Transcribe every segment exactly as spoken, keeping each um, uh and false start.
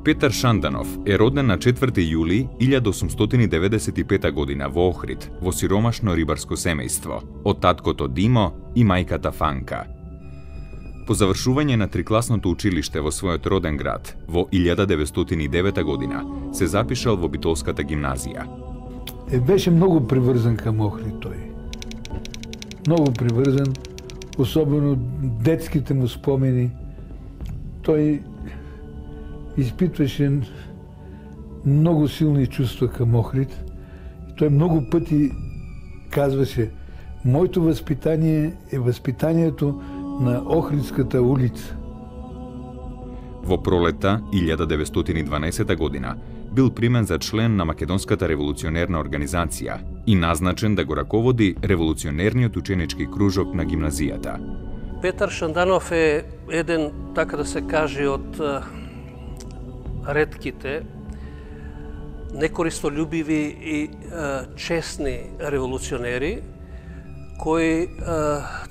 Петар Шанданов е роден на четврти јули илјада осумстотини деветдесет и пета година во Охрид, во сиромашно рибарско семејство, од таткото Димо и мајката Фанка. По завршување на трикласното училиште во својот роден град, во илјада деветстотини и девета година, се запишал во Битолската гимназија. Е, беше многу приврзан кам Охрид тој. Многу приврзан, особено детските му спомени. Тој испитваше многу силни чувства кам Охрид. Тој многу пати казваше: моето воспитание е воспитанието на Охридската улица. Во пролета илјада деветстотини и дванаесета година бил примен за член на Македонската револуционерна организација и назначен да го раководи револуционерниот ученички кружок на гимназијата. Петар Шанданов е еден, така да се каже, од ретките некористолюбиви и честни револуционери, кои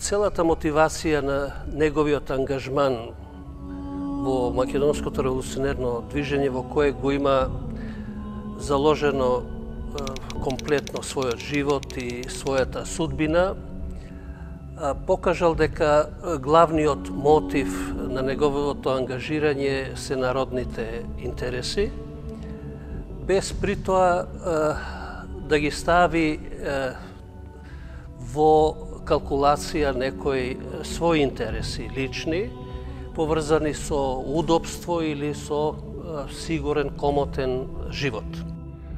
целата мотивација на неговиот ангажман во македонското револуционерно движење, во кое го има заложено комплетно својот живот и својата судбина, покажал дека главниот мотив на неговото ангажирање се народните интереси, без при тоа да ги стави во калкулација некои своји интереси лични, поврзани со удобство или со сигурен, комотен живот.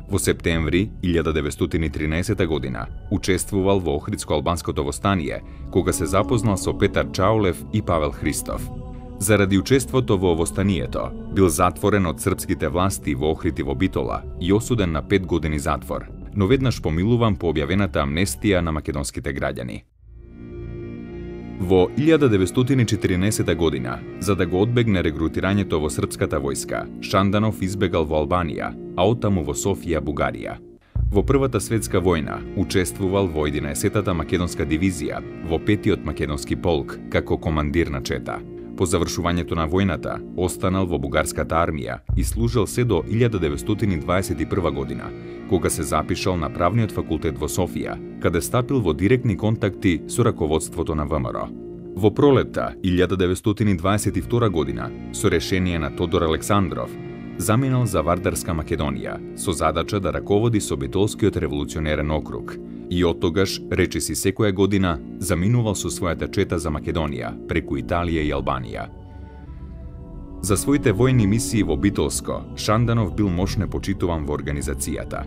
Во септември илјада деветстотини и тринаесета година учествувал во Охридско-албанското востание, кога се запознал со Петар Чаулев и Павел Христов. Заради учеството во востанието, бил затворен од српските власти во Охрид и во Битола и осуден на пет години затвор, но веднаш помилуван по објавената амнестија на македонските граѓани. Во илјада деветстотини и четирнаесета година, за да го одбегне регрутирањето во српската војска, Шанданов избегал во Албанија, а оттаму во Софија, Бугарија. Во Првата светска војна учествувал во единаесеттата македонска дивизија, во петиот македонски полк, како командир на чета. По завршувањето на војната, останал во бугарската армија и служил се до илјада деветстотини и дваесет и прва година, кога се запишал на правниот факултет во Софија, каде стапил во директни контакти со раководството на ВМРО. Во пролетта илјада деветстотини и дваесет и втора година, со решение на Тодор Александров, заминал за Вардарска Македонија со задача да раководи со Битолскиот револуционерен округ и оттогаш, речиси секоја година, заминувал со својата чета за Македонија, преку Италија и Албанија. За своите војни мисии во Битолско, Шанданов бил мошне почитуван во организацијата.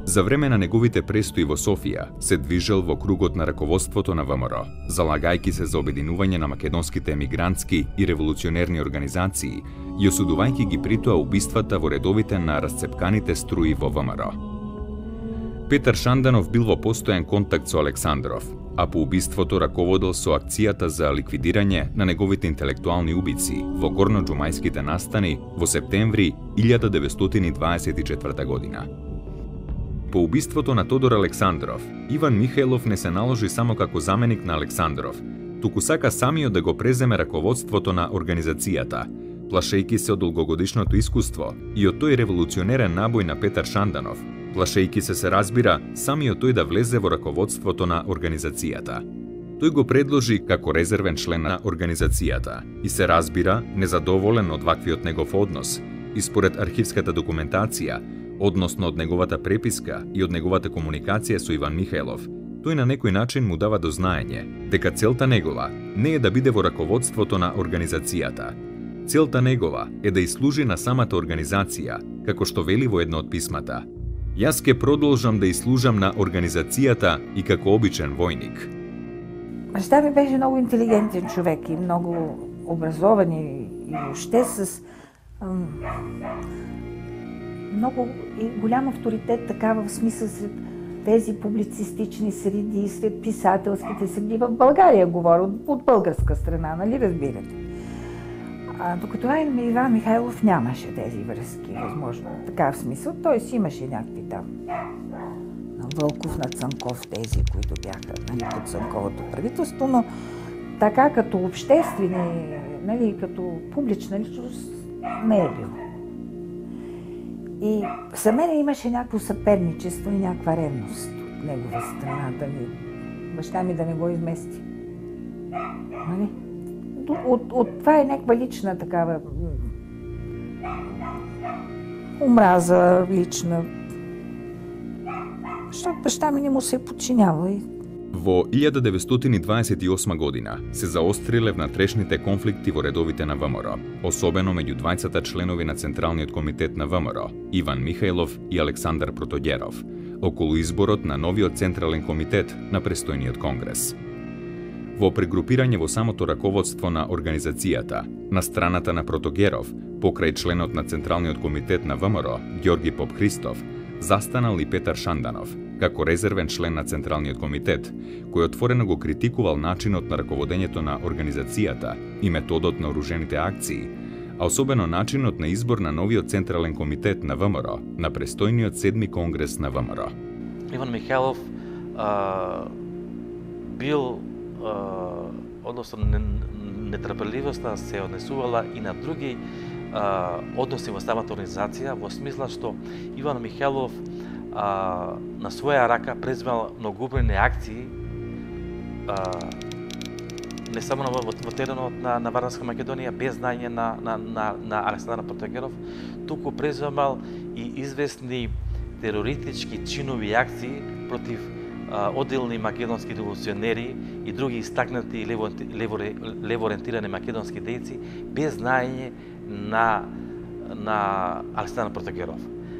За време на неговите престои во Софија, се движел во кругот на раководството на ВМРО, залагајќи се за обединување на македонските емигрантски и револуционерни организации и осудувајќи ги притоа убиствата во редовите на расцепканите струи во ВМРО. Петар Шанданов бил во постојан контакт со Александров, а по убиството раководел со акцијата за ликвидирање на неговите интелектуални убици во горноџумајските настани во септември илјада деветстотини и дваесет и четврта година. По убиството на Тодор Александров, Иван Михајлов не се наложи само како заменик на Александров, туку сака самиот да го преземе раководството на организацијата, плашејќи се од долгогодишното искуство и од тој револуционерен набој на Петар Шанданов, плашејќи се се разбира самиот тој да влезе во раководството на организацијата. Тој го предложи како резервен член на организацијата и се разбира незадоволен од ваквиот негов однос и според архивската документација, односно од неговата преписка и од неговата комуникација со Иван Михајлов, тој на некој начин му дава до знаење дека целта негова не е да биде во раководството на организацијата. Целта негова е да изслужи на самата организација, како што вели во едно од писмата. Јас ке продолжам да изслужам на организацијата и како обичен војник. Баща ми беше многу интелигентен човек и многу образован и, и уште с ам, много и голям авторитет, така в смисъл сред тези публицистични среди, сред писателските среди. В България говоря, от, от българска страна, нали разбирате. А, докато Иван Михайлов нямаше тези връзки, възможно. Така в смисъл, той си имаше някакви там на Вълков, на Цанков, тези, които бяха, нали, под Цанковото правителство, но така като обществени, нали, като публична личност не е било. И за мене имаше някакво съперничество и някаква ревност от негова страна, да ми, баща ми да не го измести. Нали? От, от това е някаква лична такава омраза лична. Защото баща ми не му се е подчинявал. Во илјада деветстотини дваесет и осма година се заостриле внатрешните конфликти во редовите на ВМРО, особено меѓу двајцата членови на Централниот комитет на ВМРО, Иван Михајлов и Александар Протогеров, околу изборот на новиот Централен комитет на престојниот конгрес. Во прегрупирање во самото раководство на организацијата, на страната на Протогеров, покрај членот на Централниот комитет на ВМРО, Ѓорги Попхристов, застанал и Петар Шанданов, како резервен член на Централниот комитет, кој отворено го критикувал начинот на раководењето на организацијата и методот на оружените акции, а особено начинот на избор на новиот Централен комитет на ВМРО на престојниот седми конгрес на ВМРО. Иван Михајлов а, бил, а, односно нетрпеливоста се однесувала и на други а, односи во самата организација, во смисла што Иван Михајлов а, на своја рака преземал многобројни акции, а, не само во, во теренот на, на Вардарска Македонија, без знаење на, на, на, на Александар Протогеров, туку преземал и известни терористички чинови акции против а, одделни македонски револуционери и други истакнати лево, лево, лево ориентирани македонски дејци, без знаење на, на Александар Протогеров.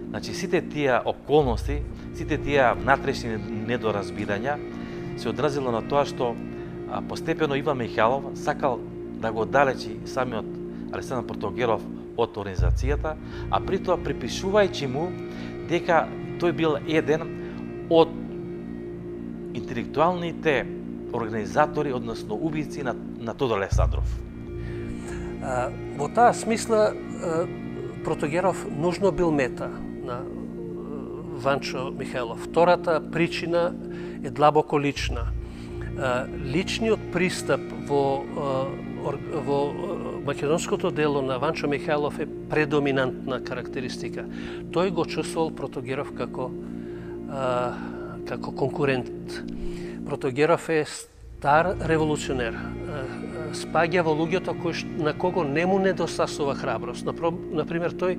Значи, сите тие околности, сите тие внатрешни недоразбирања се одразило на тоа што а, постепено Иван Михајлов сакал да го далечи самиот Александар Протогеров од организацијата, а при тоа припишувајќи му дека тој бил еден од интелектуалните организатори, односно убици на, на Тодор Александров. А, во таа смисла Протогеров нужно бил мета на Ванчо Михајлов. Втората причина е длабоко лична. Личниот пристап во, во македонското дело на Ванчо Михајлов е предоминантна карактеристика. Тој го чувствувал Протогеров како, како конкурент. Протогеров е стар револуционер. Спаѓа во луѓето кој, на кого не му недостасува храброст. Например, тој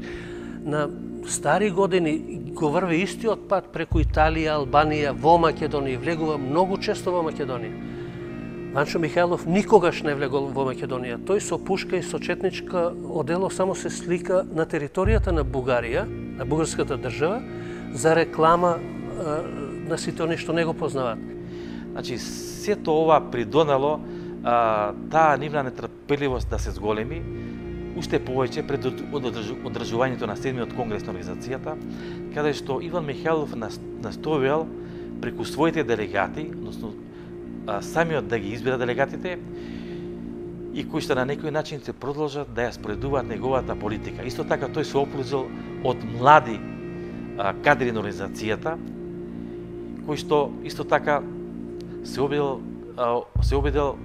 на стари години го врви истиот пат преку Италија, Албанија, во Македонија, влегува многу често во Македонија. Ванчо Михајлов никогаш не влегол во Македонија. Тој со пушка и со четничка одело само се слика на територијата на Бугарија, на бугарската држава, за реклама на сите они што не го познаваат. Значи, сето ова придонело а, таа нивна нетрпеливост да се зголеми, уште повеќе пред одржувањето на седмиот конгрес на организацијата, каде што Иван Михајлов настојал преку своите делегати, односно самиот да ги избира делегатите, и кои што на некој начин се продолжат да ја споредуваат неговата политика. Исто така тој се опрузил од млади а, кадри на организацијата, кои што исто така се обидел, а, се обидел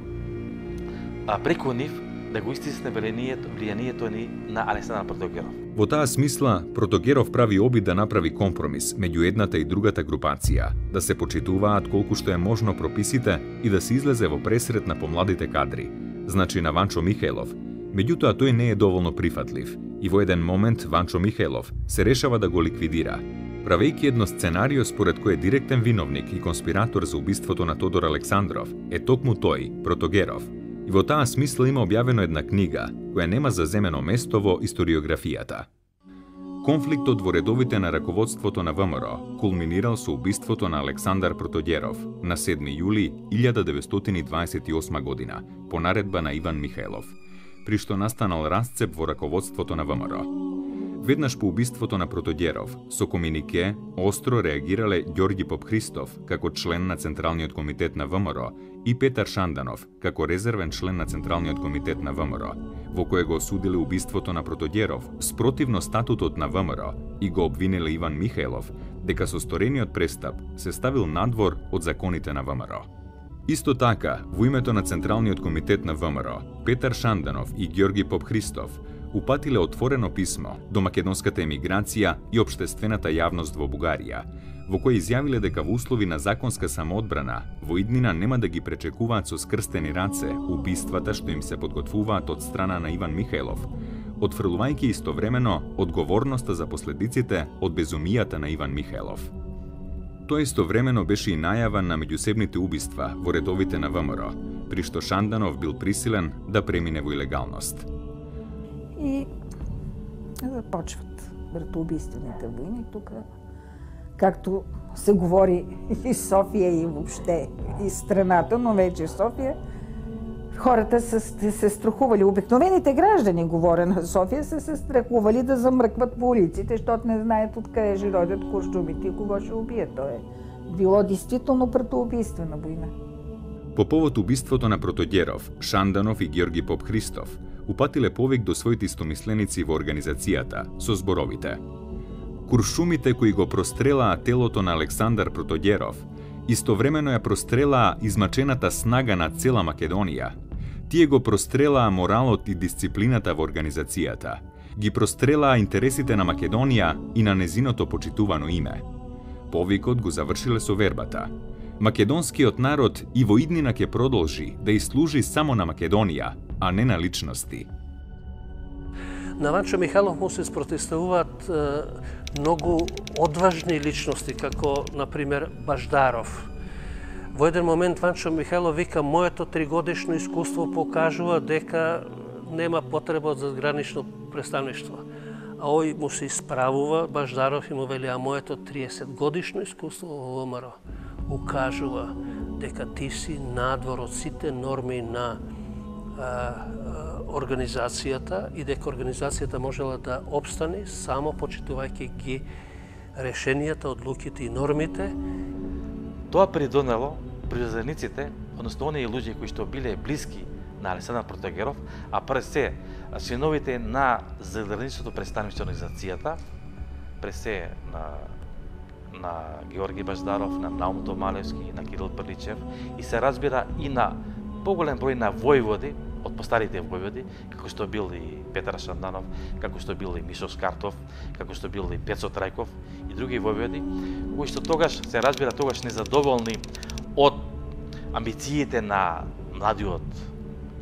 а, преку нив да го истисне влијанието, влијанието ни на Александар Протогеров. Во таа смисла, Протогеров прави обид да направи компромис меѓу едната и другата групација, да се почитуваат колку што е можно прописите и да се излезе во пресрет на помладите кадри, значи на Ванчо Михајлов. Меѓутоа тој не е доволно прифатлив и во еден момент Ванчо Михајлов се решава да го ликвидира, правејќи едно сценарио според кој директен виновник и конспиратор за убиството на Тодор Александров е токму тој, Протогеров. И во таа смисла има објавено една книга, која нема заземено место во историографијата. Конфликтот во редовите на раководството на ВМРО кулминирал со убиството на Александар Протогеров на седми јули илјада деветстотини дваесет и осма година, по наредба на Иван Михајлов, при што настанал расцеп во раководството на ВМРО. Веднаш по убиството на Протогеров, со комунике остро реагирале Ѓорги Попхристов како член на Централниот комитет на ВМРО и Петар Шанданов како резервен член на Централниот комитет на ВМРО, во кое го осудиле убиството на Протогеров спротивно статутот на ВМРО и го обвиниле Иван Михајлов дека со сторениот престап се ставил надвор од законите на ВМРО. Исто така, во името на Централниот комитет на ВМРО, Петар Шанданов и Ѓорги Попхристов упатиле отворено писмо до македонската емиграција и општествената јавност во Бугарија, во кој изјавиле дека во услови на законска самоодбрана, во иднина нема да ги пречекуваат со скрстени раце убиствата што им се подготвуваат од страна на Иван Михајлов, отфрлувајќи истовремено одговорноста за последиците од безумијата на Иван Михајлов. Тоа истовремено беше и најава на меѓусебните убиства во редовите на ВМРО, при што Шанданов бил присилен да премине во илегалност. И започват братоубийствените војни тука, както се говори и Софија и въобще и страната, но вече Софија, хората са се страхували, обикновените граждани, говоря на Софија, са се страхували да замръкват по улиците, защото не знаят откъде ще родят куршумите и кого ще убият. То е било действително братоубийствена война. По повод убиството на Протогеров, Шанданов и Георги Поп Христов упатиле повик до своите истомисленици во организацијата со зборовите: куршумите кои го прострелаа телото на Александар Протогеров, истовремено ја прострелаа измачената снага на цела Македонија. Тие го прострелаа моралот и дисциплината во организацијата, ги прострелаа интересите на Македонија и на незиното почитувано име. Повикот го завршиле со вербата: македонскиот народ и во иднина ќе продолжи да служи само на Македонија, а не на личности. На Ванчо Михайлов му се спротивставуваат многу одважни личности, како, например, Баждаров. Во еден момент Ванчо Михайлов вика: моето тригодишно искуство покажува дека нема потреба од задгранично представништво. А ој му се исправува, Баждаров, и му вели: а моето триесет годишно искуство во ВМРО укажува дека ти си надвор од сите норми на а, а, организацијата и дека организацијата можела да обстане само почитувајќи ги решенијата, одлуките и нормите. Тоа придонело приврзениците, односно оние луѓе кои што биле блиски на Александар Протогеров, а пред се членовите на задграничното представништво на организацијата, пред се на на Георги Баждаров, на Наум Домалевски, на Кирил Прличев и се разбира и на поголем број на војводи од постарите војводи, како што бил и Петар Шанданов, како што бил и Мишо Скартов, како што бил и Пецо Трајков и други војводи, кои што тогаш се разбира тогаш незадоволни од амбициите на младиот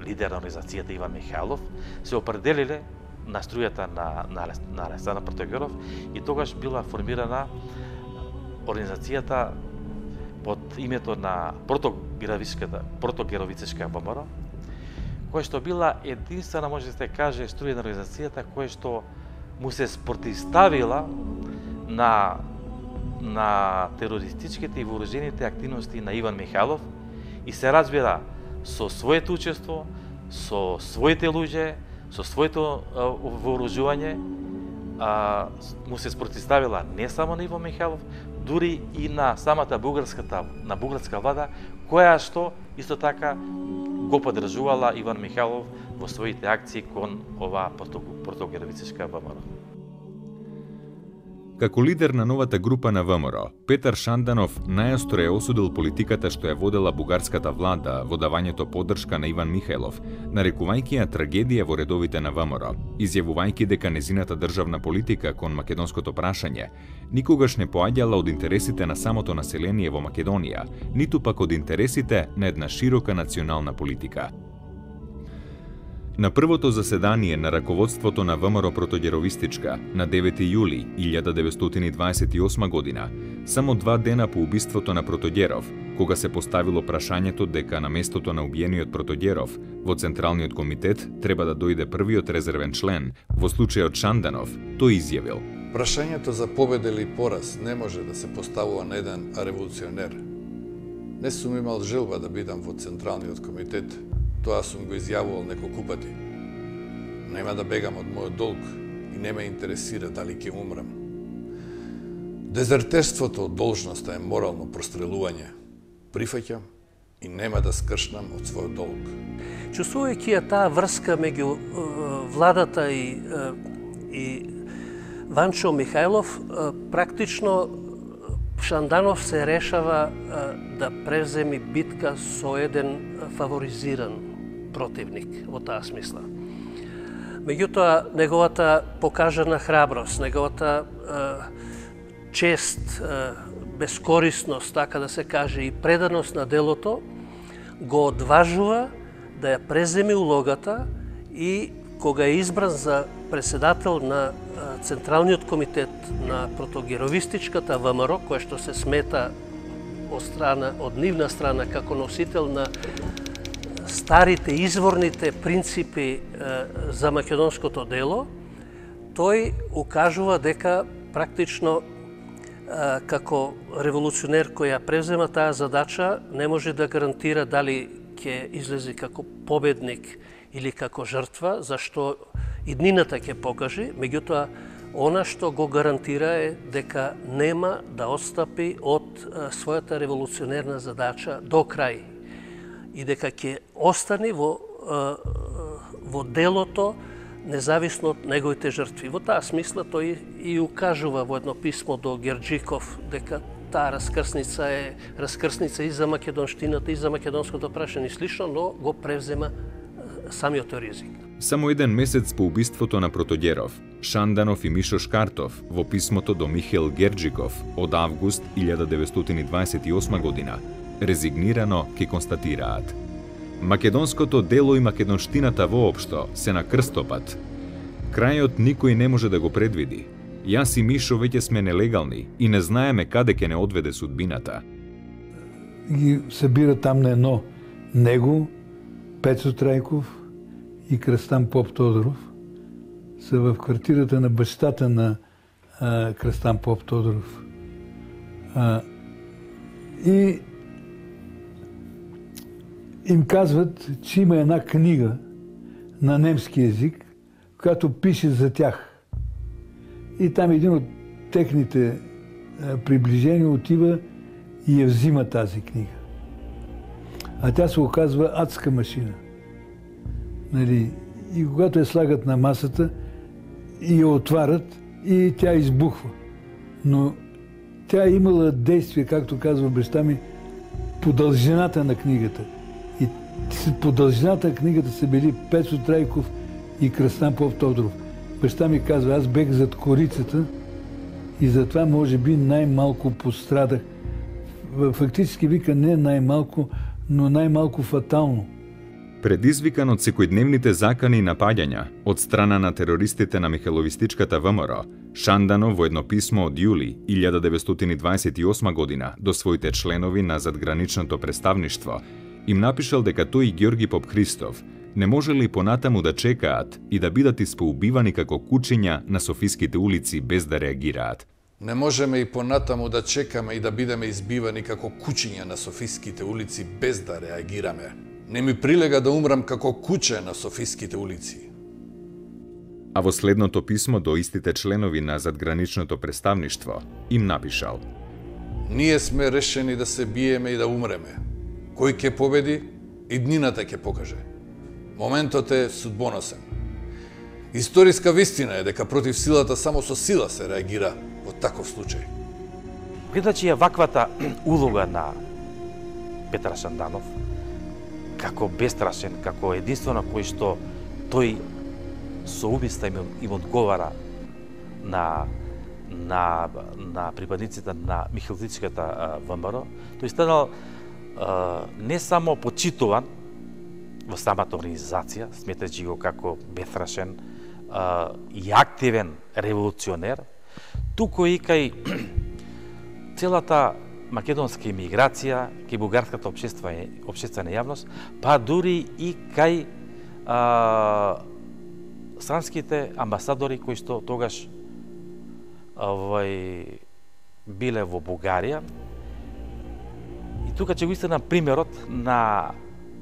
лидер на организацијата Иван Михајлов, се определиле на струјата на на, на Александар Протогеров и тогаш била формирана организацијата под името на Протогеровичката Протогеровицешка ВМРО, која што била единствена, може да се каже, струја на организацијата која што му се спротивставила на на терористичките и вооружените активности на Иван Михајлов и се разбира со своето учество, со своите луѓе, со своето вооружување, а, му се спротивставила не само на Иван Михајлов, дури и на самата бугарската на бугарска влада, која што исто така го поддржувала Иван Михајлов во своите акции кон оваа Протогеровицешка ВМРО. Како лидер на новата група на ВМРО, Петар Шанданов најостро е осудил политиката што ја водела бугарската влада во давањето поддршка на Иван Михајлов, нарекувајќи ја трагедија во редовите на ВМРО, изјавувајќи дека незината државна политика кон македонското прашање никогаш не поаѓала од интересите на самото население во Македонија, ниту пак од интересите на една широка национална политика. На првото заседание на раководството на ВМРО Протогеровистичка на девети јули илјада деветстотини дваесет и осма година, само два дена по убиството на Протогеров, кога се поставило прашањето дека на местото на убиениот Протогеров во Централниот комитет треба да дојде првиот резервен член, во случајот Шанданов, тој изјавил: прашањето за победа или пораз не може да се поставува на еден револуционер. Не сум имал желба да бидам во Централниот комитет, тоа сум го изјавувал неколку пати. Нема да бегам од мојот долг и не ме интересира дали ќе умрам. Дезертерството од должноста е морално прострелување. Прифаќам и нема да скршнам од својот долг. Чувствувајќи ја таа врска меѓу владата и, и Ванчо Михајлов, практично Шанданов се решава да преземи битка со еден фаворизиран противник во таа смисла. Меѓутоа, неговата покажана храброст, неговата чест, безкорисност, така да се каже, и преданост на делото, го одважува да ја преземи улогата и кога е избран за председател на Централниот комитет на протогеровистичката ВМРО, која што се смета од страна, од нивна страна како носител на старите изворните принципи за македонското дело, тој укажува дека практично како револуционер кој ја превзема таа задача не може да гарантира дали ќе излезе како победник или како жртва, зашто иднината ќе покаже, меѓутоа она што го гарантира е дека нема да отстапи од својата револуционерна задача до крај и дека ќе остане во, во делото независно од неговите жртви. Во таа смисла тој и укажува во едно писмо до Герџиков дека таа раскрсница е раскрсница и за македонштината и за македонското прашање и слично, но го превзема самиот ризик. Само еден месец по убиството на Протогеров, Шанданов и Мишо Шкартов во писмото до Михаил Герџиков од август илјада деветстотини дваесет и осма година резигнирано ке констатираат: македонското дело и македонштината воопшто се на крстопат. Крајот никој не може да го предвиди. Јас и Мишо веќе сме нелегални и не знаеме каде ќе не одведе судбината. Ги събира там на едно него, Пецо Трајков и Крстан Поп Тодоров са в квартирата на бащата на а, Крстан Поп Тодоров. А, и им казват, че има една книга на немски език, която пише за тях. И там един от техните а, приближения отива и я взима тази книга. А тя се оказва адска машина. Нали? И когато я слагат на масата и я отварят, и тя избухва. Но тя е имала действие, както казва баща ми, по дължината на книгата. И по дължината на книгата са били Пецо Трайков и Кръстан Поп Тодоров. Баща ми казва, аз бех зад корицата и затова може би най-малко пострадах. Фактически вика не най-малко, но най-малко фатално. Предизвикан од секојдневните закани и напаѓања од страна на терористите на Михайловистичката ВМРО, Шанданов во едно писмо од јули илјада деветстотини дваесет и осма година до своите членови на задграничното представништво им напишал дека тој и Ѓорги Поп Христов не можели понатаму да чекаат и да бидат испоубивани како кучиња на софиските улици без да реагираат. Не можеме и понатаму да чекаме и да бидеме избивани како кучиња на софиските улици без да реагираме. Не ми прилега да умрам како куче на софиските улици. А во следното писмо до истите членови на задграничното представништво им напишал: ние сме решени да се биеме и да умреме. Кој ќе победи, иднината ќе покаже. Моментот е судбоносен. Историска вистина е дека против силата само со сила се реагира во таков случај. Гледачи ја ваквата улога на Петар Шанданов, како бестрашен, како единствено кој што тој со убиста им, им одговара на, на, на припадниците на Михайловистичката ВМРО, тој станал а, не само почитуван во самата организација, сметајќи го како бестрашен а, и активен револуционер, туку и кај целата македонска имиграција, кај бугарската обществена, обществена јавност, па дури и кај а, странските амбасадори кои што тогаш овој биле во Бугарија. И тука ќе го истинам примерот на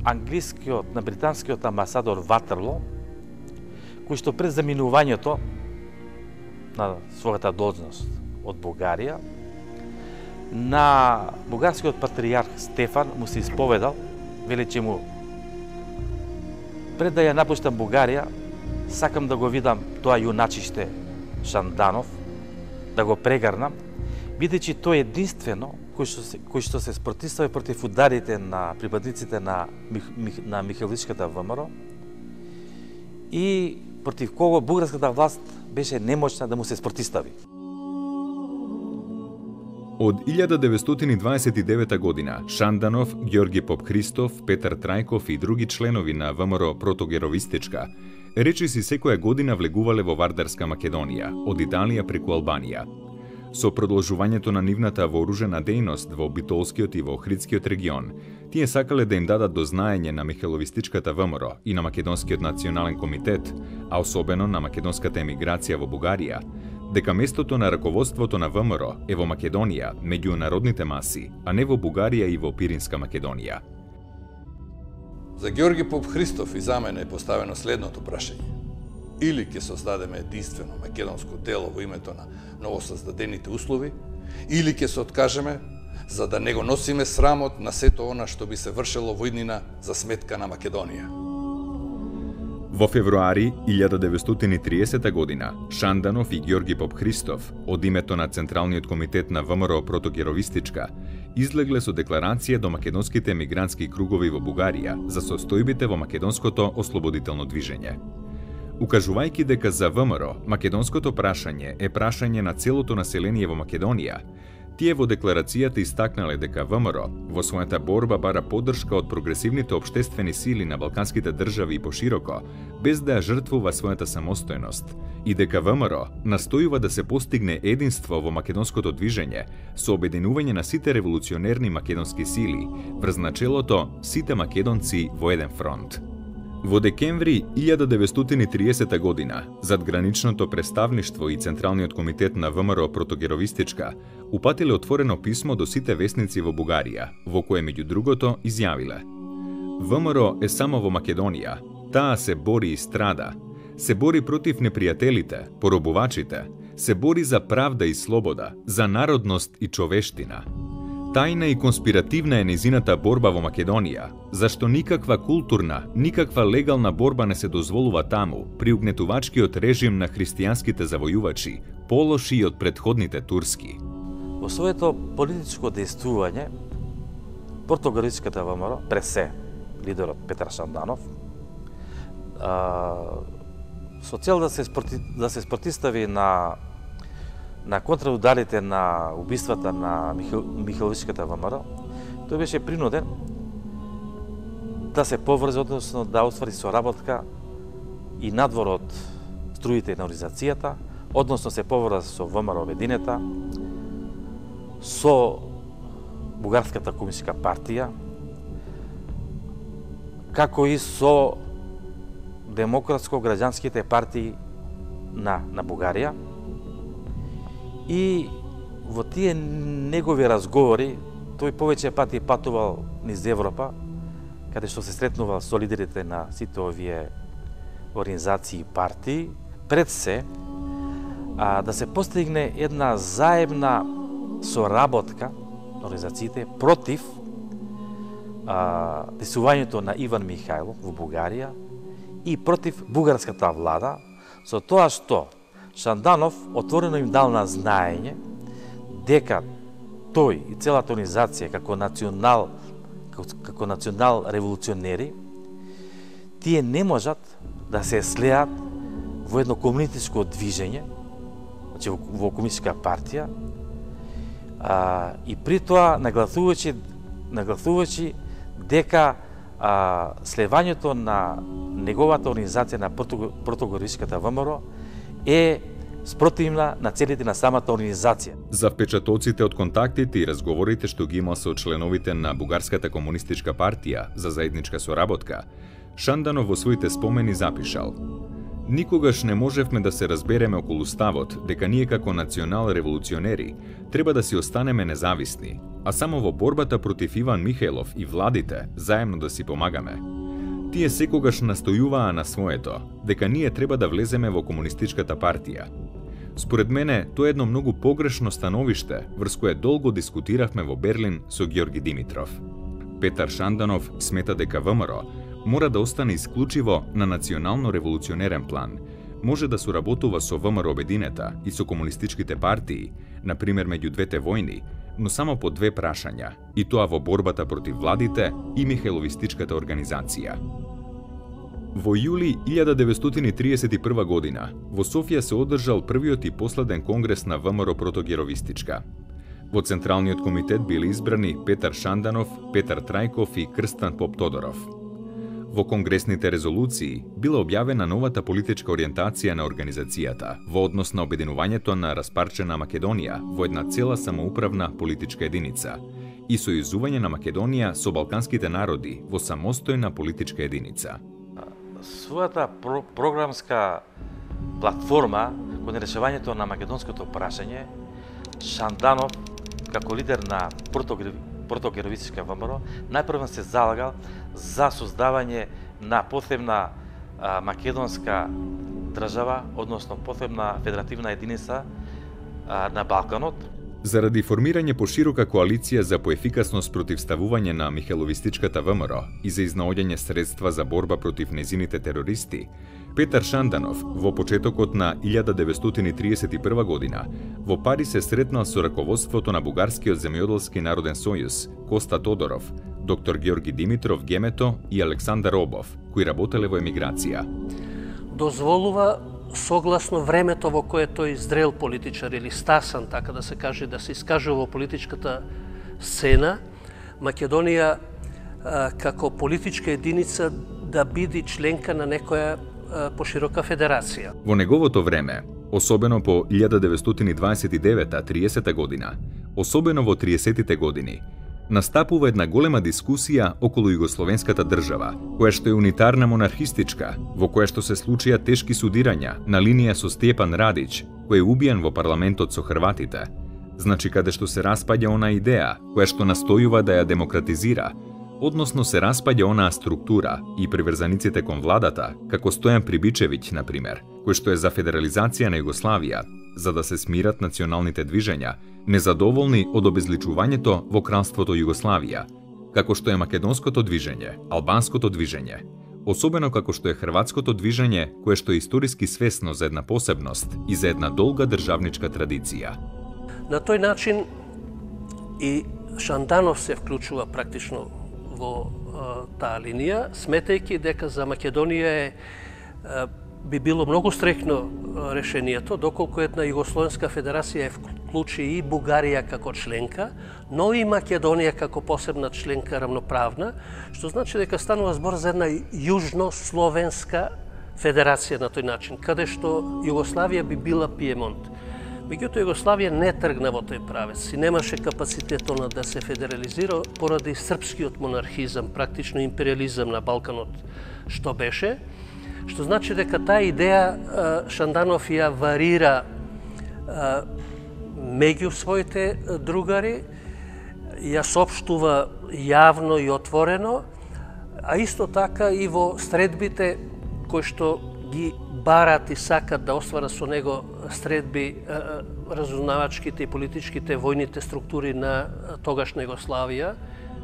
англискиот, на британскиот амбасадор Ватерло, кој што пред заминувањето на својата должност од Бугарија, на бугарскиот патриарх Стефан му се исповедал, вели че му пред да ја напуштам Бугарија, сакам да го видам тоа јуначиште Шанданов, да го прегарнам, бидејќи тој единствено кој што се, кој што се спротивстави против ударите на припадниците на, на Михайловистичката ВМРО и против кого бугарската власт беше немочна да му се спротистави. Од илјада деветстотини дваесет и девета година Шанданов, Ѓорги Попхристов, Петар Трајков и други членови на ВМРО Протогеровистичка речиси секоја година влегувале во Вардарска Македонија, од Италија преку Албанија. Со продолжувањето на нивната вооружена дејност во Битолскиот и во Охридскиот регион, тие сакале да им дадат до знаење на Михеловистичката ВМРО и на Македонскиот национален комитет, а особено на македонската емиграција во Бугарија, дека местото на раководството на ВМРО е во Македонија, меѓу народните маси, а не во Бугарија и во Пиринска Македонија. За Ѓорги Попхристов и за мене е поставено следното прашање. Или ќе создадеме единствено македонско дело во името на новосоздадените услови, или ќе се откажеме за да не го носиме срамот на сето она што би се вршело во иднина за сметка на Македонија. Во февруари илјада деветстотини и триесета година Шанданов и Ѓорги Попхристов од името на Централниот комитет на ВМРО Протогеровистичка излегле со декларација до македонските емигрантски кругови во Бугарија за состојбите во македонското ослободително движење. Укажувајќи дека за ВМРО македонското прашање е прашање на целото население во Македонија, тие во декларацијата истакнале дека ВМРО во својата борба бара поддршка од прогресивните општествени сили на балканските држави и пошироко, без да ја жртвува својата самостојност, и дека ВМРО настојува да се постигне единство во македонското движење со обединување на сите револуционерни македонски сили врз начелото сите македонци во еден фронт. Во декември илјада деветстотини и триесета година, задграничното представништво и Централниот комитет на ВМРО Протогеровистичка упатиле отворено писмо до сите весници во Бугарија, во кое меѓу другото изјавиле: ВМРО е само во Македонија, таа се бори и страда, се бори против непријателите, поробувачите, се бори за правда и слобода, за народност и човештина. Тајна и конспиративна е незината борба во Македонија, зашто никаква културна, никаква легална борба не се дозволува таму, при угнетувачкиот режим на христијанските завојувачи, полоши од претходните турски. Во своето политичко дејствување, Протогеровистичката ВМРО, пред се лидерот Петар Шанданов, со цел да се, спроти, да се спротистави на на контраударите на убиствата на Михел, Михеловистичката ВМРО, тој беше принуден да се поврзе, односно да оствари соработка и надвор од струите на организацијата, односно се поврзе со ВМРО Обединета, со Бугарската комунистичка партија, како и со демократско-граѓанските партии на, на Бугарија. И во тие негови разговори, тој повеќе пати патувал низ Европа, каде што се сретнувал со лидерите на сите овие организации и партии, пред се а, да се постигне една заедна соработка на организациите против а, десувањето на Иван Михајлов во Бугарија и против бугарската влада, со тоа што Шанданов отворено им дал на знаење дека тој и целата организација како национал, како, како национал револуционери, тие не можат да се слеат во едно комунистичко движење, значи во, во комунистичка партија, а, и при тоа нагласувачи, нагласувачи дека а, слевањето на неговата организација на Протогеровистичката ВМРО е спротивна на целите на самата организација. За впечатоците од контактите и разговорите што ги имал со членовите на Бугарската комунистичка партија за заедничка соработка, Шанданов во своите спомени запишал: "Никогаш не можевме да се разбереме околу ставот дека ние како национал-револуционери треба да си останеме независни, а само во борбата против Иван Михајлов и владите заедно да си помагаме. Тие секогаш настојуваа на своето, дека ние треба да влеземе во комунистичката партија. Според мене, тоа е едно многу погрешно становиште, врз кое долго дискутиравме во Берлин со Ѓорги Димитров." Петар Шанданов смета дека ВМРО мора да остане исклучиво на национално-револуционерен план, може да соработува со ВМРО Обединета и со комунистичките партии, например меѓу двете војни, но само по две прашања, и тоа во борбата против владите и Михајловистичката организација. Во јули илјада деветстотини тридесет и прва година во Софија се одржал првиот и последен конгрес на ВМРО протогеровистичка. Во Централниот комитет били избрани Петар Шанданов, Петар Трајков и Крстан Поп-Тодоров. Во конгресните резолуции била објавена новата политичка ориентација на организацијата во однос на обединувањето на распарчена Македонија во една цела самоуправна политичка единица и сојузување на Македонија со балканските народи во самостојна политичка единица. Својата про програмска платформа кон решавањето на македонското прашање, Шанданов, како лидер на протогеровистичка ВМРО, најпрво се залагал за создавање на посебна а, македонска држава, односно посебна федеративна единица а, на Балканот. Заради формирање поширока коалиција за поефикасно спротивставување на Михеловистичката ВМРО и за изнаоѓање средства за борба против незините терористи, Петар Шанданов во почетокот на илјада деветстотини тридесет и прва година во Париз се сретнал со раководството на Бугарскиот земјоделски народен сојуз, Коста Тодоров, доктор Георги Димитров Гемето и Александар Обов, кои работеле во емиграција. Дозволува согласно времето во кое тој зрел политичар или стасан, така да се каже, да се искажува во политичката сцена, Македонија а, како политичка единица да биде членка на некоја а, поширока федерација. Во неговото време, особено по илјада деветстотини дваесет и девета до тридесета година, особено во триесеттите години, настапува една голема дискусија околу југословенската држава, која што е унитарна монархистичка, во која што се случија тешки судирања на линија со Стјепан Радиć, кој е убиен во парламентот со хрватите. Значи каде што се распаѓа она идеја која што настојува да ја демократизира, односно се распаѓа онаа структура и приврзаниците кон владата, како Стојан Прибичевиќ, на пример, кој што е за федерализација на Југославија, за да се смират националните движења, незадоволни од обезличувањето во кралството Југославија, како што е македонското движење, албанското движење, особено како што е хрватското движење, кое што е историски свесно за една посебност и за една долга државничка традиција. На тој начин и Шанданов се вклучува практично во а, таа линија, сметајќи дека за Македонија е а, би било многу стрекно решението, доколку една Југословенска федерација е вклучи и Бугарија како членка, но и Македонија како посебна членка равноправна, што значи дека станува збор за една јужнословенска федерација на тој начин, каде што Југославија би била Пиемонт. Меѓутоа Југославија не тргна во тој правец и немаше капацитет она да се федерализира поради српскиот монархизам, практично империализам на Балканот што беше, што значи дека таа идеја Шанданов ја варира меѓу своите другари, ја соопштува јавно и отворено, а исто така и во средбите кои што ги барат и сакат да остварат со него средби разузнавачките и политичките војните структури на тогашна Југославија.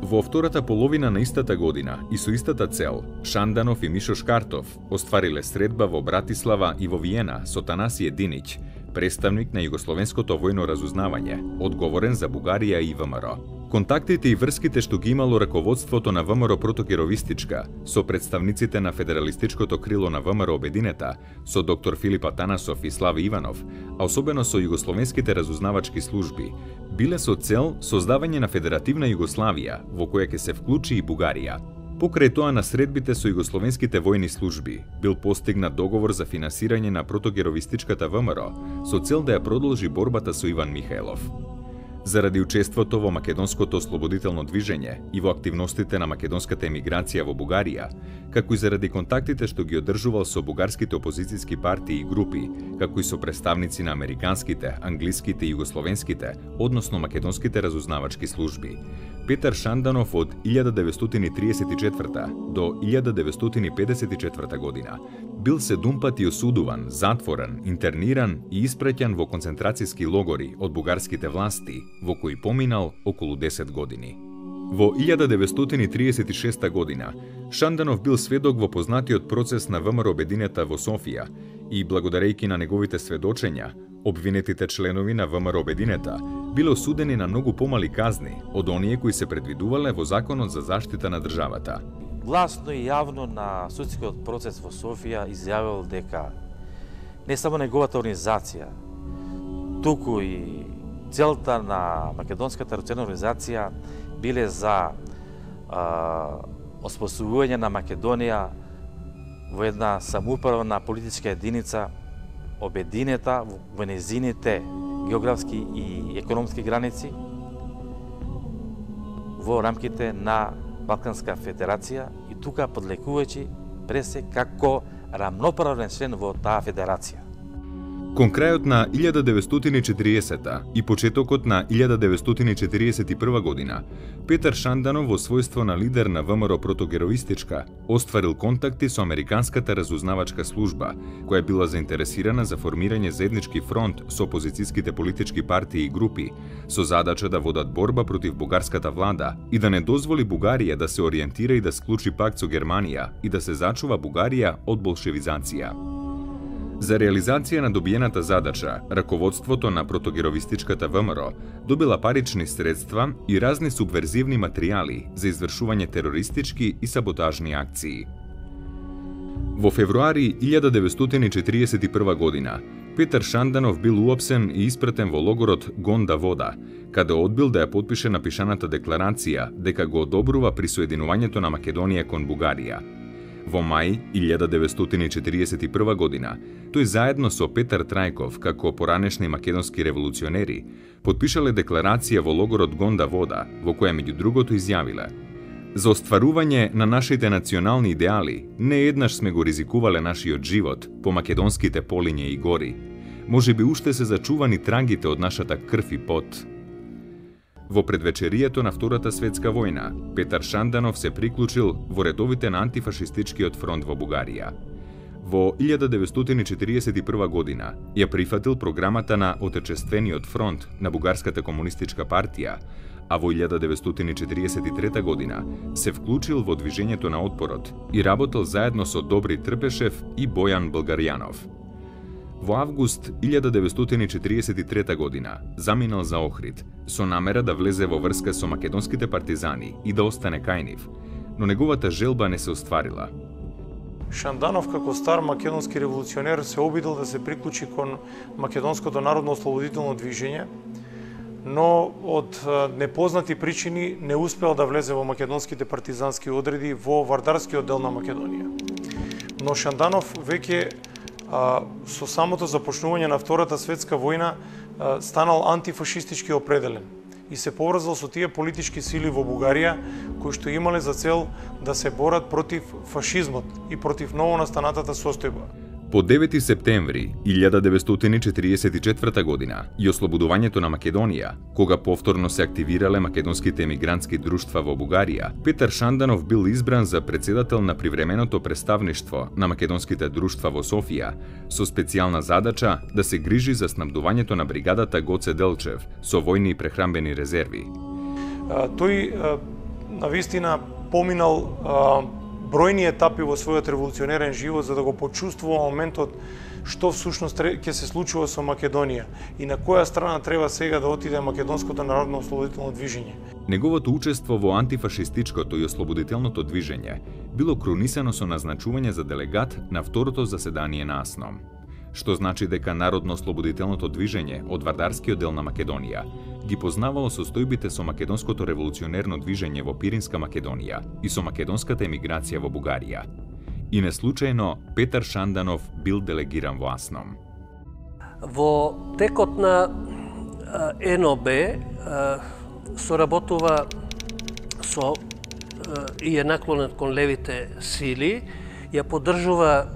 Во втората половина на истата година и со истата цел, Шанданов и Мишо Шкартов оствариле средба во Братислава и во Виена со Танасије Динич, представник на југословенското војно разузнавање, одговорен за Бугарија и ВМРО. Контактите и врските што ги имало раководството на ВМРО протогеровистичка со представниците на федералистичкото крило на ВМРО обединета, со доктор Филип Атанасов и Слави Иванов, а особено со југословенските разузнавачки служби, биле со цел создавање на федеративна Југославија во која ќе се вклучи и Бугарија. Покрај тоа на средбите со југословенските војни служби бил постигнат договор за финансирање на протогеровистичката ВМРО со цел да ја продолжи борбата со Иван Михајлов. Заради учеството во македонското ослободително движење и во активностите на македонската емиграција во Бугарија, како и заради контактите што ги одржувал со бугарските опозицијски партии и групи, како и со представници на американските, англиските и југословенските, односно македонските разузнавачки служби, Петар Шанданов од илјада деветстотини тридесет и четврта до илјада деветстотини педесет и четврта година бил седум пати осудуван, затворен, интерниран и испраќан во концентрацијски логори од бугарските власти, во кои поминал околу десет години. Во илјада деветстотини тридесет и шеста година Шанданов бил сведок во познатиот процес на ВМРО обединета во Софија и благодарејќи на неговите сведочења, обвинетите членови на ВМРО обединета биле осудени на многу помали казни од оние кои се предвидувале во Законот за заштита на државата. гласно и јавно на судскиот процес во Софија изјавил дека не само неговата организација, туку и целта на Македонската револуционерна организација биле за а, оспособување на Македонија во една самоуправна политичка единица, обединета во незините географски и економски граници во рамките на Балканска федерација и тука подлекувајќи пресе како рамноправен член во таа федерација. Кон крајот на илјада деветстотини и четириесета и почетокот на илјада деветстотини и четириесет и прва година, Петар Шанданов во својство на лидер на ВМРО протогероистичка остварил контакти со Американската разузнавачка служба, која била заинтересирана за формирање заеднички фронт со опозицијските политички партии и групи, со задача да водат борба против бугарската влада и да не дозволи Бугарија да се ориентира и да склучи пакт со Германија и да се зачува Бугарија од болшевизација. За реализација на добиената задача, раководството на протогеровистичката ВМРО добила парични средства и разни субверзивни материјали за извршување терористички и саботажни акции. Во февруари илјада деветстотини и четириесет и прва година, Петар Шанданов бил уапсен и испратен во логорот Гонда Вода, каде одбил да ја потпише напишаната декларација дека го одобрува присоединувањето на Македонија кон Бугарија. Во мај илјада деветстотини и четириесет и прва година, тој заедно со Петар Трајков, како поранешни македонски револуционери, потпишале декларација во логорот Гонда Вода, во која меѓу другото изјавиле: "За остварување на нашите национални идеали, не еднаш сме го ризикувале нашиот живот по македонските полиња и гори. Може би уште се зачувани трагите од нашата крв и пот." Во предвечерието на Втората светска војна, Петар Шанданов се приклучил во редовите на антифашистичкиот фронт во Бугарија. Во илјада деветстотини и четириесет и прва година ја прифатил програмата на Отечествениот фронт на Бугарската комунистичка партија, а во илјада деветстотини и четириесет и трета година се вклучил во движењето на отпорот и работел заедно со Добри Трпешев и Бојан Българјанов. Во август илјада деветстотини и четириесет и трета година заминал за Охрид со намера да влезе во врска со македонските партизани и да остане кај нив, но неговата желба не се остварила. Шанданов како стар македонски револуционер се обидел да се приклучи кон Македонското народно ослободително движење, но од непознати причини не успел да влезе во македонските партизански одреди во Вардарскиот дел на Македонија. Но Шанданов веќе А, со самото започнување на Втората светска војна а, станал антифашистички определен и се поврзал со тие политички сили во Бугарија кои што имале за цел да се борат против фашизмот и против новонастанатата состојба. По девети септември илјада деветстотини и четириесет и четврта година и ослободувањето на Македонија, кога повторно се активирале македонските емигрантски друштва во Бугарија, Петар Шанданов бил избран за председател на привременото представништво на македонските друштва во Софија, со специјална задача да се грижи за снабдувањето на бригадата Гоце Делчев со војни и прехрамбени резерви. А, тој а, навистина поминал а, бројни етапи во својот револуционерен живот за да го почувствува моментот што всушност ќе се случува со Македонија и на која страна треба сега да отиде Македонското народно ослободително движење. Неговото учество во антифашистичкото и ослободителното движење било крунисано со назначување за делегат на второто заседание на АСНОМ, што значи дека Народно-ослободителното движење од Вардарскиот дел на Македонија ги познавало состојбите со македонското револуционерно движење во Пиринска Македонија и со македонската емиграција во Бугарија. И неслучајно Петар Шанданов бил делегиран во АСНОМ. Во текот на Н О Б соработува со и е наклонет кон левите сили, ја поддржува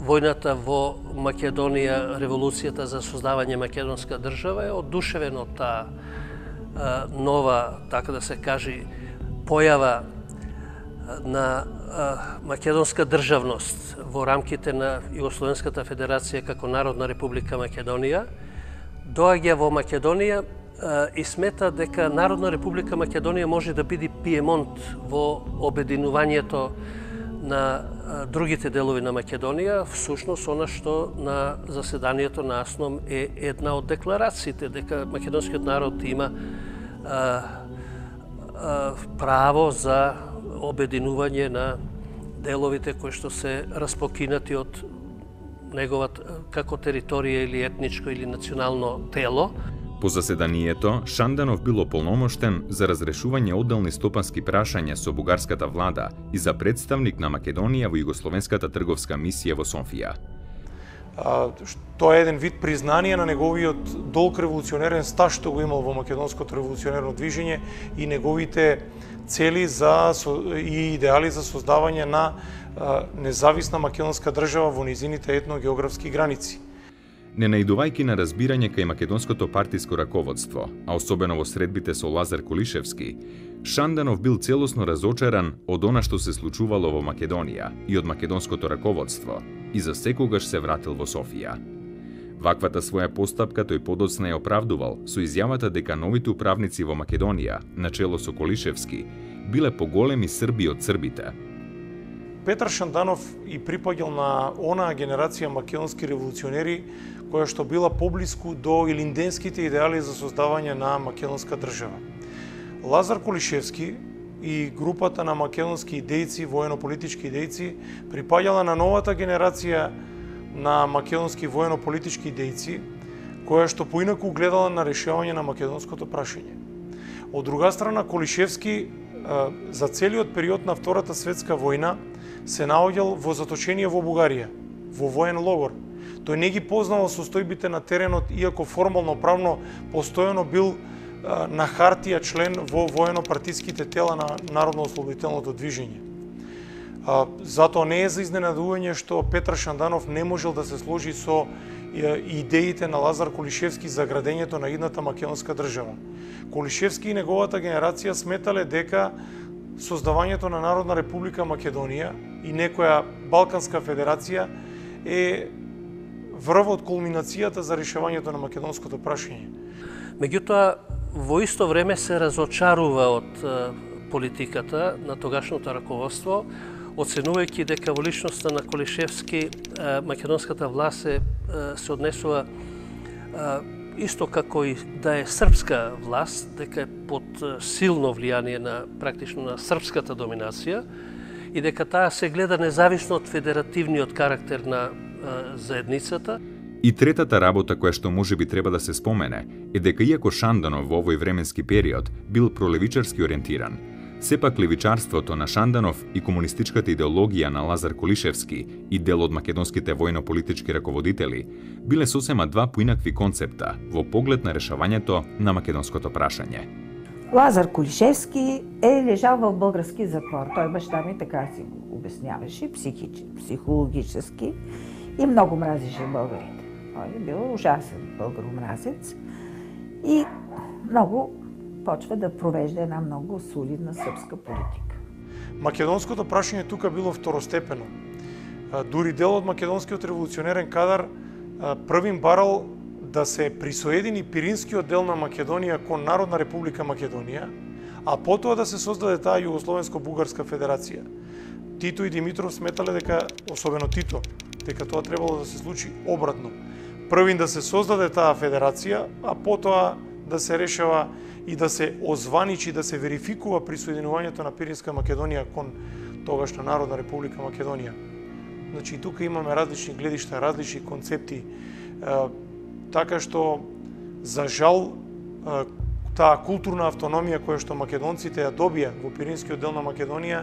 војната во Македонија, револуцијата за создавање македонска држава, е одушевен од таа нова, така да се каже, појава на македонска државност во рамките на Југословенската федерација како Народна република Македонија. Доаѓа во Македонија и смета дека Народна република Македонија може да биде Пиемонт во обединувањето на другите делови на Македонија, всушност она што на заседанието на АСНОМ е една од декларациите, дека македонскиот народ има а, а, право за обединување на деловите кои што се распокинати од неговата како територија или етничко или национално тело. По заседанието, Шанданов бил ополномоштен за разрешување одделни стопански прашања со бугарската влада и за представник на Македонија во Југословенската трговска мисија во Софија. Тоа е еден вид признание на неговиот долг револуционерен стаж што го имал во македонското револуционерно движење и неговите цели за и идеали за создавање на независна македонска држава во низините етногеографски граници. Не наидувајќи на разбирање кај македонското партиско раководство, а особено во средбите со Лазар Кулишевски, Шанданов бил целосно разочаран од она што се случувало во Македонија и од македонското раководство и за секогаш се вратил во Софија. Ваквата своја постапка тој подоцна ја оправдувал со изјавата дека новите управници во Македонија, начело со Колишевски, биле поголеми Срби од србите. Петар Шанданов и припаѓал на онаа генерација македонски револуционери која што била поблиску до илинденските идеали за создавање на македонска држава. Лазар Кулишевски и групата на македонски идејци, воено-политички идејци, припаѓала на новата генерација на македонски воено-политички идејци, која што поинаку гледала на решавање на македонското прашање. Од друга страна, Кулишевски за целиот период на Втората светска војна се наоѓал во заточение во Бугарија, во воен логор. Тој не ги познавал состојбите на теренот, иако формално правно постојано бил на хартија член во воено-партиските тела на Народно-ослободителното движење. Затоа не е за изненадување што Петар Шанданов не можел да се сложи со идеите на Лазар Кулишевски за градењето на идната македонска држава. Кулишевски и неговата генерација сметале дека создавањето на Народна република Македонија и некоја Балканска федерација е врвот кулминацијата за решавањето на македонското прашање. Меѓутоа, во исто време се разочарува од политиката на тогашното раководство, оценувајќи дека во личноста на Кулишевски македонската власт се, се однесува исто како и да е српска власт, дека е под силно влијание на практично на српската доминација и дека таа се гледа независно од федеративниот карактер на заедницата. И третата работа која што може би треба да се спомене е дека иако Шанданов во овој временски период бил пролевичарски ориентиран, сепак левичарството на Шанданов и комунистичката идеологија на Лазар Кулишевски и дел од македонските војно-политички раководители биле сосема два поинакви концепта во поглед на решавањето на македонското прашање. Лазар Кулишевски е лежал в български затвор. Той баща ми така си го обясняваше, психич, психологически, и много мразеше българите. Той е бил ужасен българомразец и много почва да провежда една много солидна српска политика. Македонското прашање тука било второстепено. Дури дел од македонскиот револуционерен кадар првим барал да се присоедини Пиринскиот дел на Македонија кон Народна република Македонија, а потоа да се создаде таа Југословенско-бугарска федерација. Тито и Димитров сметале дека, особено Тито, дека тоа требало да се случи обратно. Првин да се создаде таа федерација, а потоа да се решава и да се озваничи, да се верификува присоединувањето на Пиринска Македонија кон тогашна Народна република Македонија. Значи, тука имаме различни гледишта, различни концепти, така што, за жал, таа културна автономија која што македонците ја добија во Пиринскиот дел на Македонија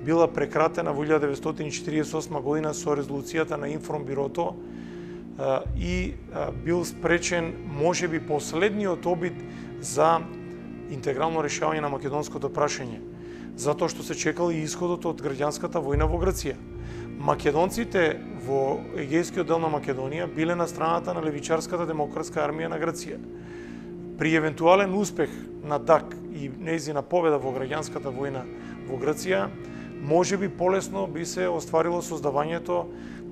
била прекратена во илјада деветстотини четиридесет и осма година со резолуцијата на Информбирото и бил спречен можеби последниот обид за интегрално решавање на македонското прашање, затоа што се чекал и исходот од граѓанската војна во Грција. Македонците во Егејскиот дел на Македонија биле на страната на левичарската демократска армија на Грција. При евентуален успех на ДАК и нејзина победа во граѓанската војна во Грција, можеби полесно би се остварило создавањето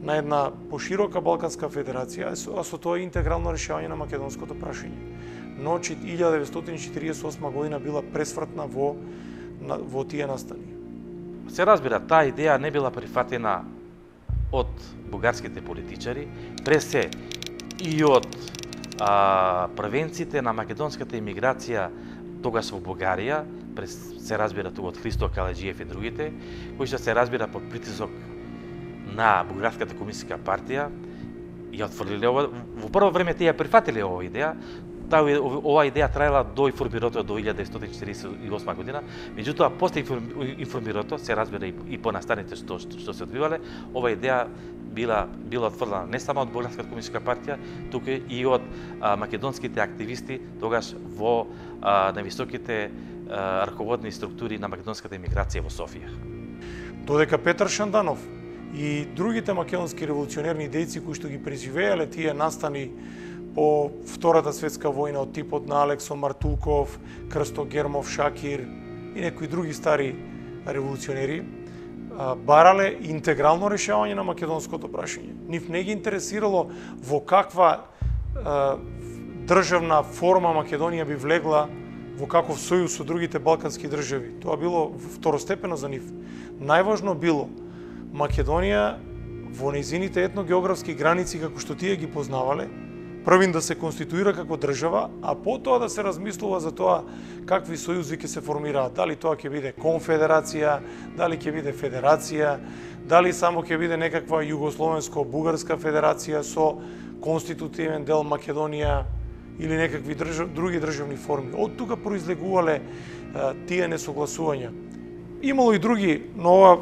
на една поширока Балканска федерација, а со тоа интегрално решавање на македонското прашање. Но илјада деветстотини четиридесет и осма година била пресвртна во, во тие настани. Се разбира, таа идеја не била прифатена од бугарските политичари, пресе и од а, првенците на македонската имиграција тогаш во Бугарија, се разбира тука од Христо Каледжиев и другите, кои што се разбира под притисок на Бугарската комунистичка партија, ја отфрлиле ова. Во прво време тие ја прифатиле оваа идеја. Таа оваа идеја траела до информирото до илјада деветстотини четиридесет и осма година. Меѓутоа после информирото се разбира и по настаните што што се одвивале, оваа идеја била била отфрлена не само од Бугарската комунистичка партија, туку и од а, македонските активисти тогаш во а, највисоките а, раководни структури на македонската емиграција во Софија. Додека Петар Шанданов и другите македонски револуционерни дејци кои што ги преживеале тие настани по Втората светска војна од типот на Алексо Мартулков, Крсто Гермов, Шакир и некои други стари револуционери, барале интегрално решавање на македонското прашање. Нив не ги интересирало во каква а, државна форма Македонија би влегла во каков сојуз со другите балкански држави. Тоа било второстепено за нив. Најважно било Македонија во нејзините етногеографски граници како што тие ги познавале, првин да се конституира како држава, а потоа да се размислува за тоа какви сојузи ќе се формираат. Дали тоа ќе биде конфедерација, дали ќе биде федерација, дали само ќе биде некаква југословенско-бугарска федерација со конститутивен дел Македонија или некакви држав, други државни форми. Од тука произлегувале а, тие несогласувања. Имало и други, но ова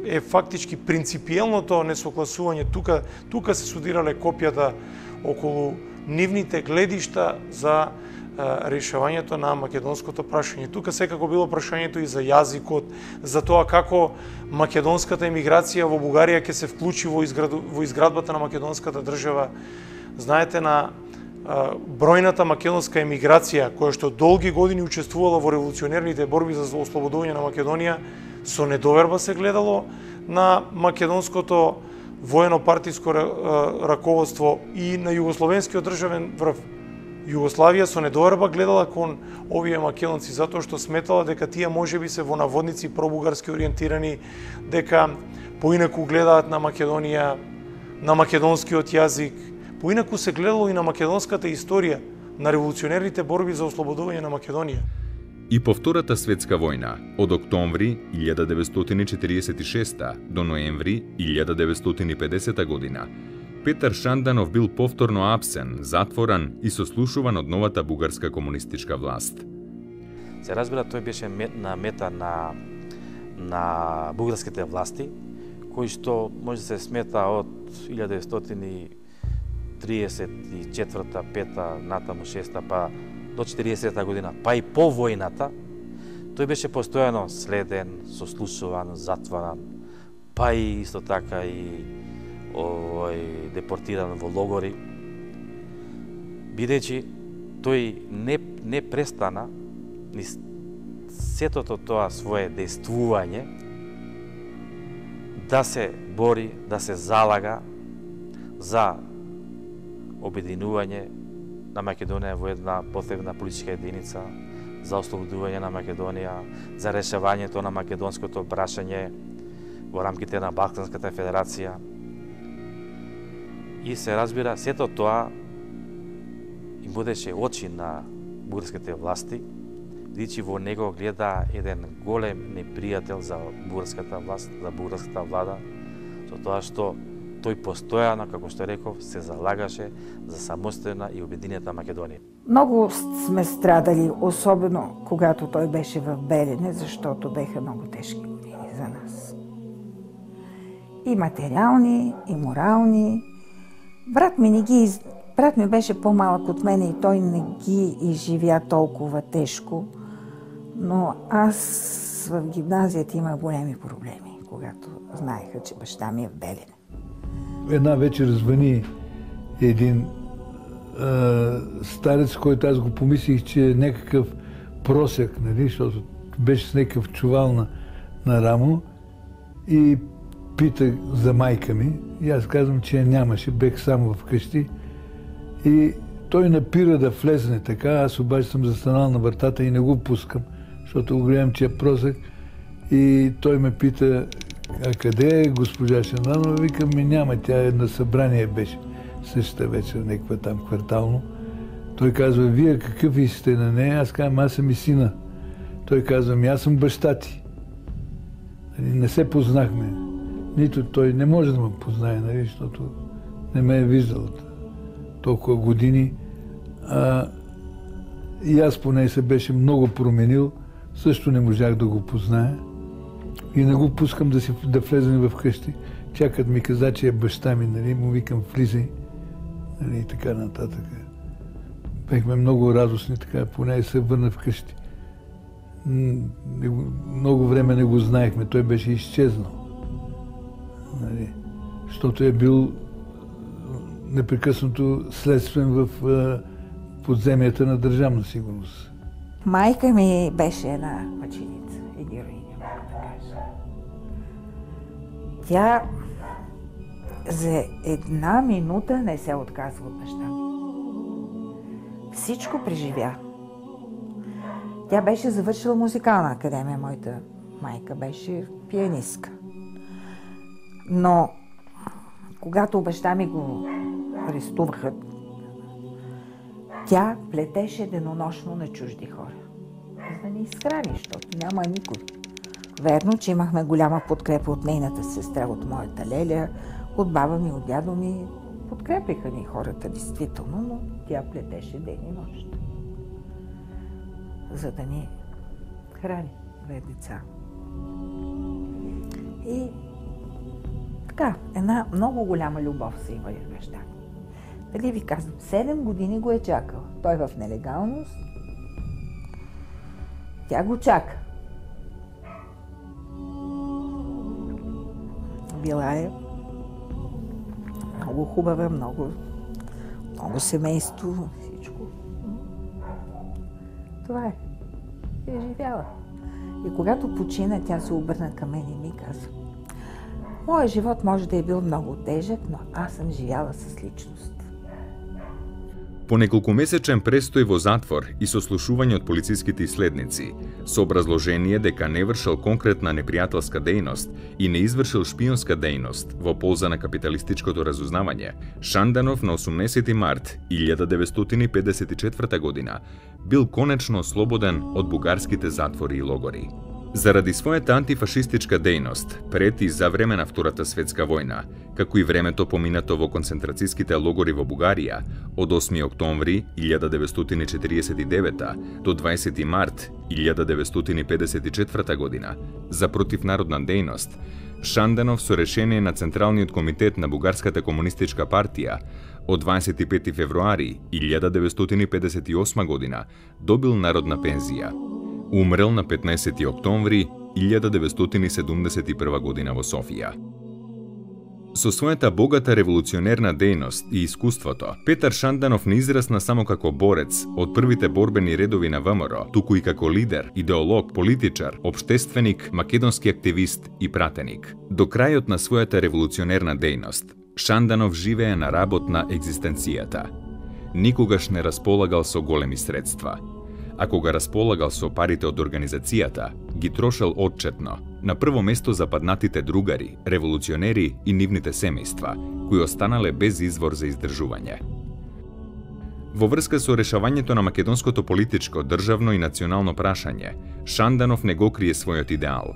е фактички принципиелното несогласување. Тука, тука се судирале копијата околу нивните гледишта за а, решавањето на македонското прашање. Тука секако било прашањето и за јазикот, за тоа како македонската емиграција во Бугарија ќе се вклучи во, изграду, во изградбата на македонската држава. Знаете, на а, бројната македонска емиграција, која што долги години учествувала во револуционерните борби за ослободување на Македонија, со недоверба се гледало на македонското воено-партиско раководство и на југословенскиот државен врв. Југославија со недоверба гледала кон овие македонци, затоа што сметала дека тие можеби се во наводници пробугарски ориентирани, дека поинаку гледаат на Македонија, на македонскиот јазик, поинаку се гледало и на македонската историја, на револуционерните борби за ослободување на Македонија. И по Втората светска војна, од октомври илјада деветстотини четиридесет и шеста до ноември илјада деветстотини и педесета година, Петар Шанданов бил повторно апсен, затворан и сослушуван од новата бугарска комунистичка власт. Се разбира, тој беше на мета на, на бугарските власти, кои што може да се смета од илјада деветстотини триесет и четврта, пета, натаму шеста, па до четиридесета година, па и по војната, тој беше постојано следен, сослушуван, затваран, па и исто така и овој депортиран во логори, бидејќи тој не, не престана ни сетото тоа свое действување да се бори, да се залага за обединување на Македонија во една потребна политичка единица, за ослободување на Македонија, за решавањето на македонското прашање во рамките на Балканската федерација. И се разбира, сето тоа им будеше очи на бугарските власти, бидејќи во него гледа еден голем непријател за бугарската власт, за бугарската влада, со тоа што тој постојано, како што реков, се залагаше за самостојна и обединета Македонија. Многу сме страдали, особено когато тој беше в Белене, заштото беха многу тешки години за нас. И материјални, и морални. Брат ми не ги брат ми беше помалък от мене и той не ги изживя толкова тежко, но аз в гимназията имах големи проблеми, когато знаеха, че баща ми е в Белене. Една вечер звъни един а, старец, който аз го помислих, че е някакъв просек, нали, защото беше с някакъв чувал на, на рамо и пита за майка ми. И аз казвам, че я нямаше, бех само вкъщи. И той напира да влезне така, аз обаче съм застанал на вратата и не го пускам, защото го гледам, че е просек. И той ме пита, а къде е госпожа Шанданова? Викам, ми няма, тя на събрание беше същата вечер, някаква там квартално. Той казва, вие какъв сте на нея? Аз казвам, аз съм и сина. Той казва, ми аз съм баща ти. Не се познахме. Нито той не може да ме познае, нали, защото не ме е виждал толкова години. А, и аз поне се беше много променил, също не можах да го позная. И не го пускам да, си, да влезем в къщи. Чакат ми каза, че е баща ми, нали, му викам влизай, нали, и така нататък. Бехме много радостни, така, поне се върна вкъщи. Много време не го знаехме, той беше изчезнал. Нали, защото е бил непрекъснато следствен в подземията на Държавна сигурност. Майка ми беше една мъченица и героиня, мога да кажа. Тя за една минута не се отказва от баща ми. Всичко преживя. Тя беше завършила музикална академия, моята майка беше пианистка. Но когато баща ми го арестуваха, тя плетеше денонощно на чужди хора, за да ни изхрани, защото няма никой. Верно, че имахме голяма подкрепа от нейната сестра, от моята леля, от баба ми, от дядо ми. Подкрепиха ни хората, действително, но тя плетеше ден и нощ, за да ни храни, две деца. И така, една много голяма любов се има и баща ми. Дали ви казвам, седем години го е чакал. Той в нелегалност. Тя го чака. Била е много хубава, много, много семейство, всичко. Това е. Е живяла. И когато почина, тя се обърна към мен и ми каза: моят живот може да е бил много тежък, но аз съм живяла с личност. По неколкумесечен престој во затвор и сослушување од полициските иследници, со образложение дека не вршил конкретна непријателска дејност и не извршил шпионска дејност во полза на капиталистичкото разузнавање, Шанданов на осумнесети март илјада деветстотини педесет и четврта година бил конечно ослободен од бугарските затвори и логори. Заради својата антифашистичка дејност пред и за време на Втората светска војна, како и времето поминато во концентрацијските логори во Бугарија од осми октомври илјада деветстотини четиридесет и девета до дваесети март илјада деветстотини педесет и четврта година за противнародна дејност, Шанданов со решение на Централниот комитет на Бугарската комунистичка партија од дваесет и пети февруари илјада деветстотини педесет и осма година добил народна пензија. Умрел на петнаесети октомври илјада деветстотини седумдесет и прва година во Софија. Со својата богата револуционерна дејност и искуството, Петар Шанданов не израсна само како борец од првите борбени редови на ВМРО, туку и како лидер, идеолог, политичар, општественик, македонски активист и пратеник. До крајот на својата револуционерна дејност, Шанданов живее на работ на екзистенцијата. Никогаш не располагал со големи средства. А кога располагал со парите од организацијата, ги трошел отчетно, на прво место западнатите другари, револуционери и нивните семејства, кои останале без извор за издржување. Во врска со решавањето на македонското политичко, државно и национално прашање, Шанданов не го крие својот идеал.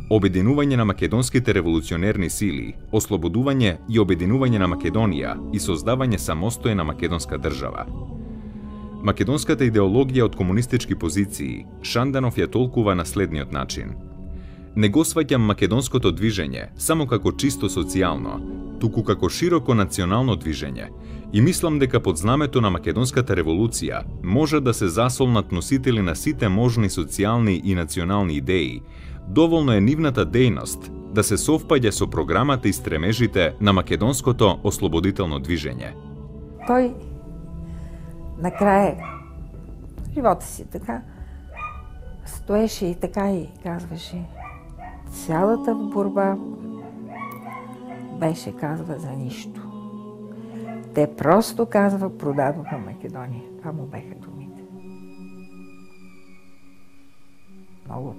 Обединување на македонските револуционерни сили, ослободување и обединување на Македонија и создавање самостојна македонска држава. Македонската идеологија од комунистички позиции Шанданов ја толкува на следниот начин. Не го сваќам македонското движење само како чисто социјално, туку како широко национално движење и мислам дека под знамето на македонската револуција може да се засолнат носители на сите можни социјални и национални идеи. Доволно е нивната дејност да се совпаѓа со програмата и стремежите на македонското ослободително движење. Тој накрая живота си така стоеше и така и казваше: цялата борба беше, казва, за нищо. Те просто, казва, продадоха Македония. Това му беха думите. Много.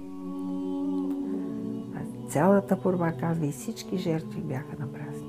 А цялата борба, казва, и всички жертви бяха напразни.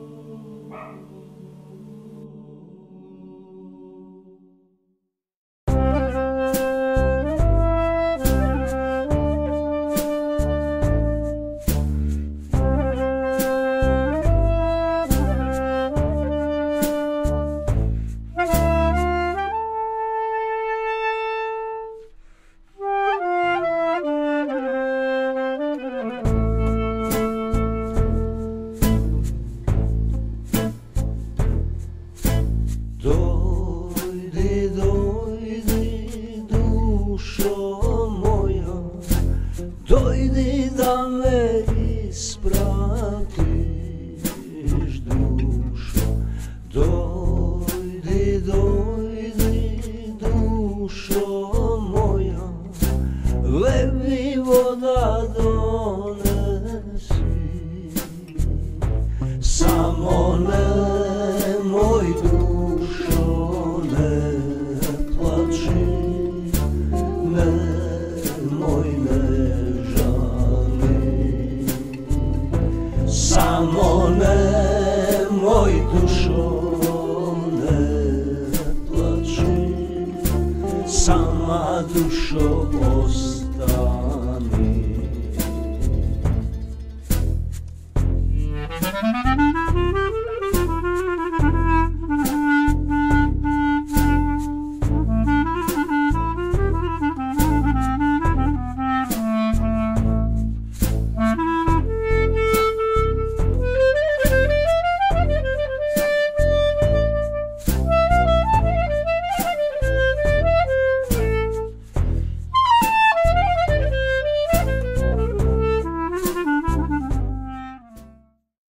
платиш, душо, дојди, дојди, душо моја, леви вода донеси. Само немој, душо, не плачи, немој, не жали. Само немој, душо, не плачи, сама душо остани.